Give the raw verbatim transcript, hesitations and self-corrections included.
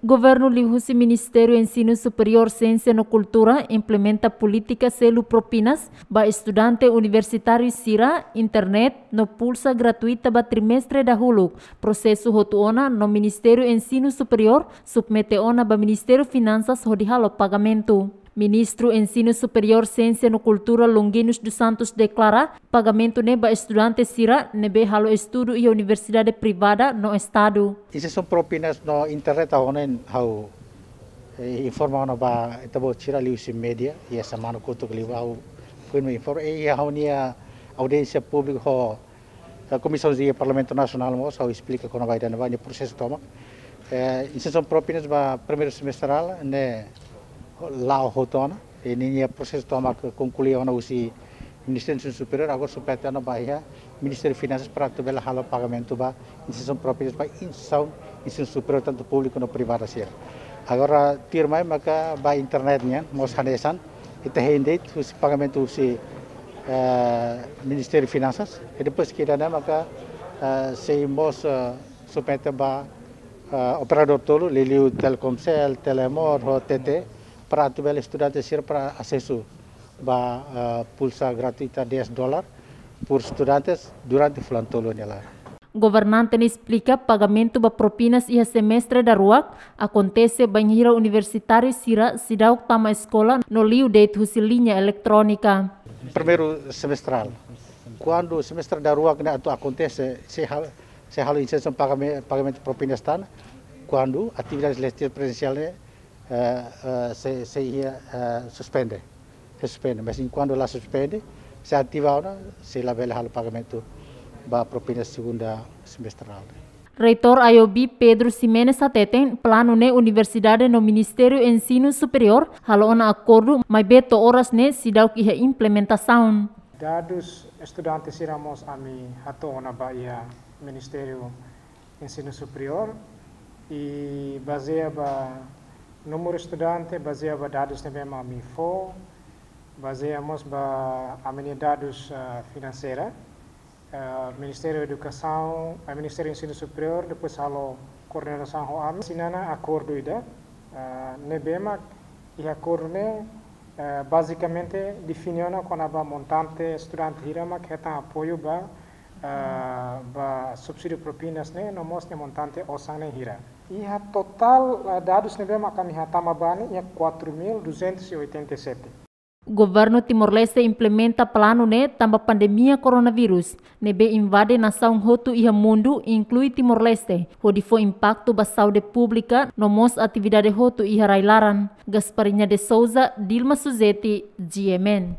Governu liuhusi Ministériu Ensinu Superiór, Siénsia no Kultura implementa polítika selu propinas ba estudante universitáriu sira, internet no pulsa gratuita ba trimestre dahuluk. Prosesu hotu ona no Ministériu Ensinu Superiór submete ona ba Ministériu Finansas hodi halo pagamentu. Ministru Ensinu Superiór, Siénsia no Kultura, Longuinus dos Santos, deklara pagamentu ne'e ba estudante sira ne'ebé halo estudu iha universidade privada no estadu. Insersaun propinas no internet, ha'u ne'e ha'u, eh, informa ona ba ita-boot sira liuhusi média, iha semana kotuk liubá ha'u foin mai informa, eh, iha ha'u-nia audiénsia públika ho, eh, Komisaun G iha Parlamentu Nasionál mós, ha'u esplika kona-ba ida-ne'e ba nia prosesu tomak. Eh, insersaun propinas ba primeiru semestrál ne'e la'o hotu ona, i ninia prosesu tomak konklui ona husi Ministériu Ensinu Superiór, agora submete ona ba iha Ministériu Finansas para atu bele halo pagamentu ba insersaun propinas ba insersaun ensinu superiór tantu públiku no privada sira. Agora tuirmai maka ba internet nian mós hanesan, ita hein de'it husi pagamentu husi, eh, Ministériu Finansas, i depois ke ida-ne'e maka, eh, sei mós, eh, submete ba, eh, operadór tolu, liuliu Telkomcel, Telemor ho T T, para atu bele estudante sira para asesu ba, eh, pulsa gratuita dez dólar por estudantes durante fulan tolu nia laran. Governante ne'e esplika pagamentu ba propinas iha semestre daruak akontese bainhira universitáriu sira seidauk tama eskola no liu de'it husi liña eletrónika. Primeiru semestrál. Kuandu semestre daruak ne'e atu akontese, sei ha-, sei halo insersaun pagame-, pagamentu propinas tan, kuandu atividade letiva prezensiál ne'e, eh, eh, sei, sei iha, eh, suspende. Sei suspende. Mas enkuantu la suspende, sei ativa ona, sei labele halo pagamentu ba propinas segundu semestrál. Reitór I O B, Pedro Ximenes, hateten planu ne'e universidade no Ministériu Ensinu Superiór halo ona akordu, maibé to'o oras ne'e seidauk iha implementasaun. Dadus estudante sira mós ami hato'o ona ba iha Ministériu Ensinu Superiór, i bazeia ba númeru estudante, bazeia ba dadus ne'ebé mak ami fó, bazeia mós ba ami-nia dadus, ah, finanseira, ah, Ministériu Edukasaun, ah, Ministériu Ensinu Superiór, depois halo koordenasaun ho ami, asina ona akordu ida, ah, ne'ebé mak iha akordu ne'e, eh, bazikamente define ona kona-ba montante estudante hira mak hetan apoiu ba, eh, ba subsídiu propinas ne'e, no mós nia montante osan ne'e hira. Iha totál, eh, dadus ne'ebé mak ami hatama ba ne'e iha quatro mil duzentos e oitenta e sete. Governu Timor-Leste implementa planu ne'e tanba pandemia koronavírus ne'ebé invade nasaun hotu iha mundu, inklui Timor-Leste, hodi fó impaktu ba saúde públika no mós atividade hotu iha rai-laran. Gasparinha de Souza, Dilma Suzeti, G M N.